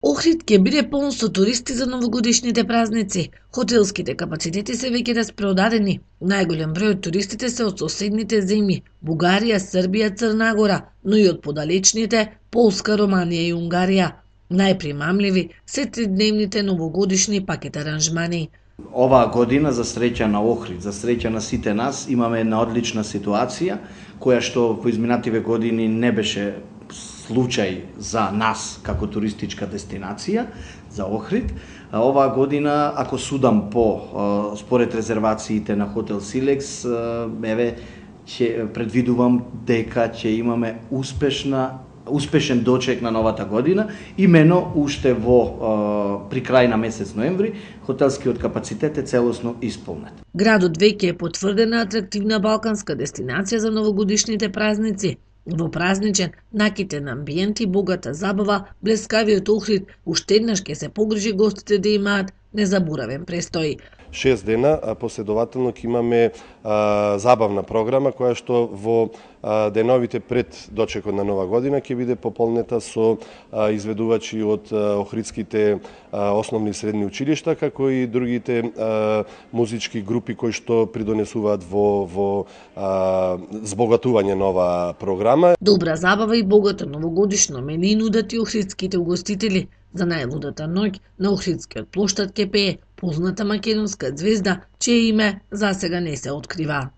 Охрид ќе биде полн со туристи за новогодишните празници. Хотелските капацитети се веќе распродадени. Најголем број од туристите се од соседните земји – Бугарија, Србија, Црна Гора, но и од подалечните Полска, Романија и Унгарија. Најпримамливи се тридневните новогодишни пакет аранжмани. Оваа година, за среќа на Охрид, за среќа на сите нас, имаме една одлична ситуација, која што во изминативе години не беше случај за нас како туристичка дестинација, за Охрид. Оваа година, ако судам според резервациите на хотел Силекс, ќе предвидувам дека ќе имаме успешен дочек на новата година, имено уште при крај на месец ноември, хотелскиот капацитет е целосно исполнет. Градот веќе е потврдена атрактивна балканска дестинација за новогодишните празници. Во празничен, накитен амбиент и богата забава, блескавиот Охрид уште еднаш ќе се погрижи гостите да имаат незаборавен престој. 6 дена последователно ќе имаме забавна програма која што во деновите пред дочекот на Нова година ќе биде пополнета со изведувачи од охридските основни и средни училишта, како и другите музички групи кои што придонесуваат во збогатување на оваа програма. Добра забава и богато новогодишно мену нудат и охридските угостители. За најлудата ноќ на Охридскиот плоштад ќе пее позната македонска ѕвезда, чие име засега не се открива.